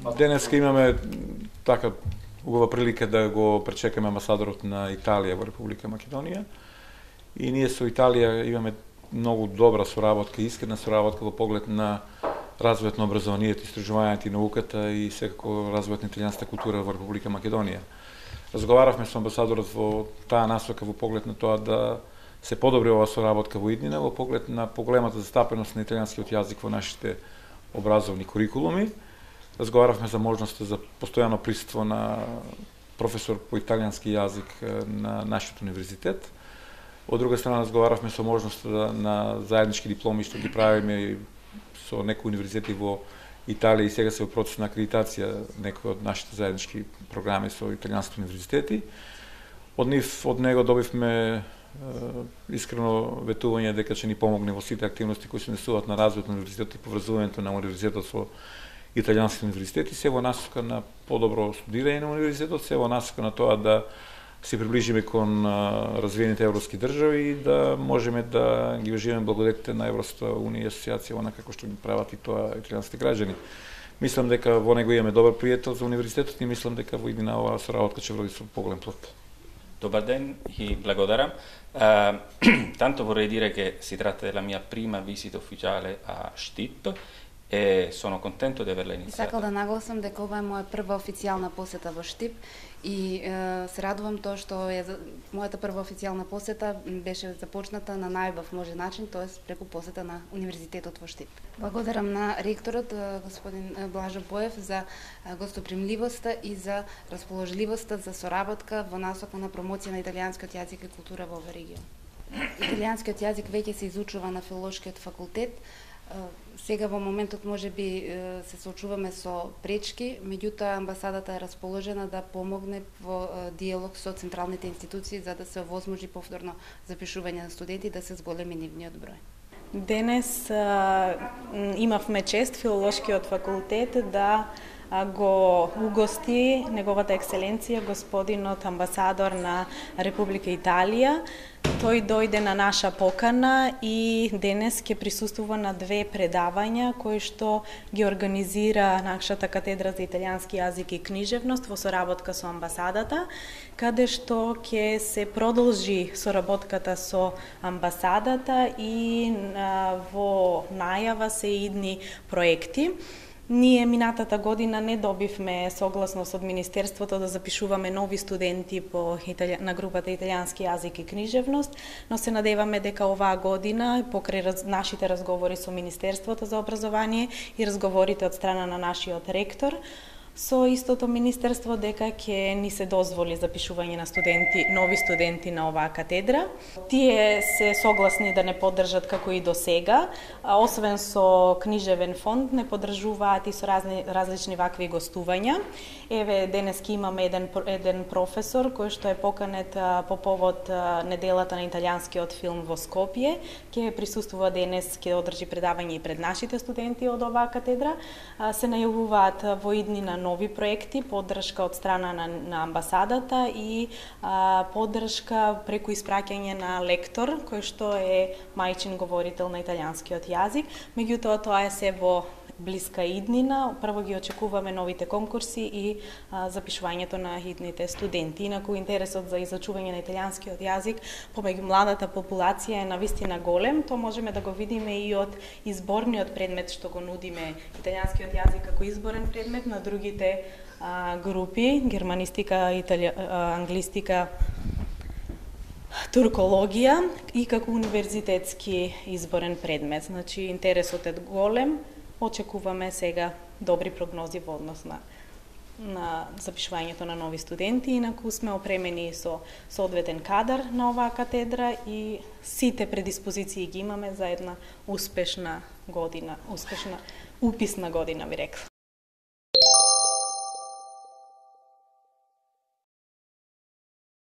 Денеска имаме така убава прилика да го пречекаме амбасадорот на Италија во Република Македонија. И ние со Италија имаме многу добра соработка, искрена соработка во поглед на развојот на образованието, истражувањето и науката и секако развојот на италијанската култура во Република Македонија. Разговаравме со амбасадорот во таа насока во поглед на тоа да се подобри оваа соработка во иднина, во поглед на поголемата застапеност на италијанскиот јазик во нашите образовни курикулуми. Разговаравме за можноста за постојано присуство на професор по италијански јазик на нашиот универзитет. Од друга страна разговаравме со можноста на заеднички дипломи што ги правиме со некои универзитети во Италија и сега се во процес на акредитација некои од нашите заеднички програми со италијанските универзитети. Од него добивме искрено ветување дека ќе ни помогне во сите активности кои се несуваат на развојот на универзитетот и поврзувањето на универзитетот со италијанските универзитети, се во насока на подобро студирање на универзитетот, се во насока на тоа да се приближиме кон развиените европски држави и да можеме да ги уживаме благодетите на Европската унија и асоциација онака како што ги прават и тоа италијанските граѓани. Мислам дека во него имаме добар пријател за универзитетот и мислам дека во иднина оваа соработка ќе вроди со поголем плод. Dobar den e благодарам. Tanto vorrei dire che si tratta della mia prima visita ufficiale a Štip e sono contento di averla iniziata. Сакал да нагласам дека ова е моја прва официјална посета во Štip и се радувам тоа што мојата прва официјална посета беше започната на најубав може начин, тоест преку посета на универзитетот во Štip. Благодарам на ректорот господин Блажо Боев за гостопримливоста и за расположливоста за соработка во насока на промоција на италијанскиот јазик и култура во овој регион. Италијанскиот јазик веќе се изучува на филолошкиот факултет. Сега во моментот можеби се соочуваме со пречки, меѓутоа амбасадата е расположена да помогне во диалог со централните институции за да се овозможи повторно запишување на студенти да се зголеми нивниот број. Денес имавме чест филолошкиот факултет да го угости неговата екселенција господинот амбасадор на Република Италија. Тој дојде на наша покана и денес ќе присуствува на две предавања кои што ги организира нашата катедра за италијански јазик и книжевност во соработка со амбасадата, каде што ќе се продолжи соработката со амбасадата и во најава се идни проекти. Ние минатата година не добивме согласност од Министерството да запишуваме нови студенти на групата италијански јазик и книжевност, но се надеваме дека оваа година, покрај нашите разговори со Министерството за образование и разговорите од страна на нашиот ректор, со истото министерство дека ќе ни се дозволи запишување на нови студенти на оваа катедра. Тие се согласни да не поддржат како и до сега, освен со книжевен фонд, не поддржуваат и со различни вакви гостувања. Еве, денески имаме еден професор кој што е поканет по повод неделата на италијанскиот филм во Скопје, ќе присуствува денес, ќе одржи предавање и пред нашите студенти од оваа катедра. Се најавуваат во иднина нови проекти, поддршка од страна на амбасадата и поддршка преку испраќање на лектор, кој што е мајчин говорител на италијанскиот јазик. Меѓутоа, тоа е се во блиска иднина. Прво ги очекуваме новите конкурси и запишувањето на идните студенти. Инаку интересот за изучување на италијанскиот јазик помеѓу младата популација е навистина голем. Тоа можеме да го видиме и од изборниот предмет што го нудиме италијанскиот јазик како изборен предмет на другите групи, германистика, англистика, туркологија и како универзитетски изборен предмет. Значи, интересот е голем. Очекуваме сега добри прогнози во однос на запишувањето на нови студенти, инаку сме опремени со соодветен кадар на оваа катедра и сите предиспозиции ги имаме за една успешна година, уписна година, би рекла.